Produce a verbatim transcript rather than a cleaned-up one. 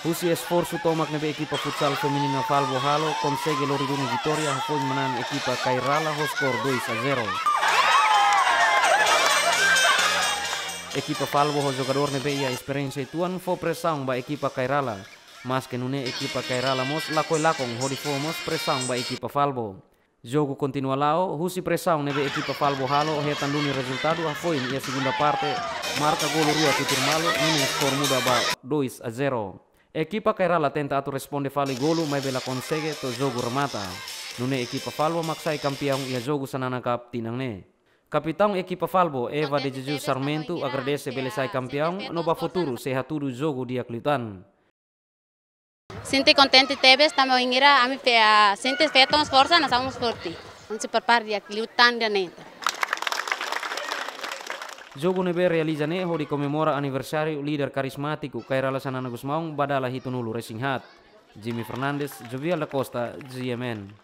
Husi esforsu tomak ne'ebé ekipa futsal feminina Falbo halo, konsege lori duni vitória hafoin manán ekipa Kairala ho skor dois a zero. Ekipa Falbo ho jogadór ne'ebé iha esperiénsia uitoan fó presaun ba ekipa Kairala. Maske nune'e ekipa Kairala mós lakohi lakon hodi fó mós presaun ba ekipa Falbo. Jogu kontinua la'o, husi presaun ne'ebé ekipa Falbo halo, hetan duni rezultadu hafoin iha segunda parte, marka golu rua tutur malu, nune'e skor muda ba dois a zero. Ekipa Kairala tenta atu responde fali golu, maibé la konsege to'o jogu remata. Nune'e ekipa Falbo mak sai kampiaun iha jogu Xanana Cup tinan ne'e. Kapitaun ekipa Falbo, Eva de Jesus Sarmento, agradese bele sai kampiaun, no ba futuru sei hatudu jogu di'ak liután. Sente kontente tebes, tanba bainhira ami fe-, ah, sente feto mós forsa, nasaun mós forte. Ami sei prepara di'ak liután ida-ne'e. Jogu ne'ebé realiza ne'e hodi komemora aniversáriu líder karizmátiku Kairala Xanana Gusmão, ba dala hitunulu resin haat. Jimmy Fernandes, Jovial da Costa, G M N.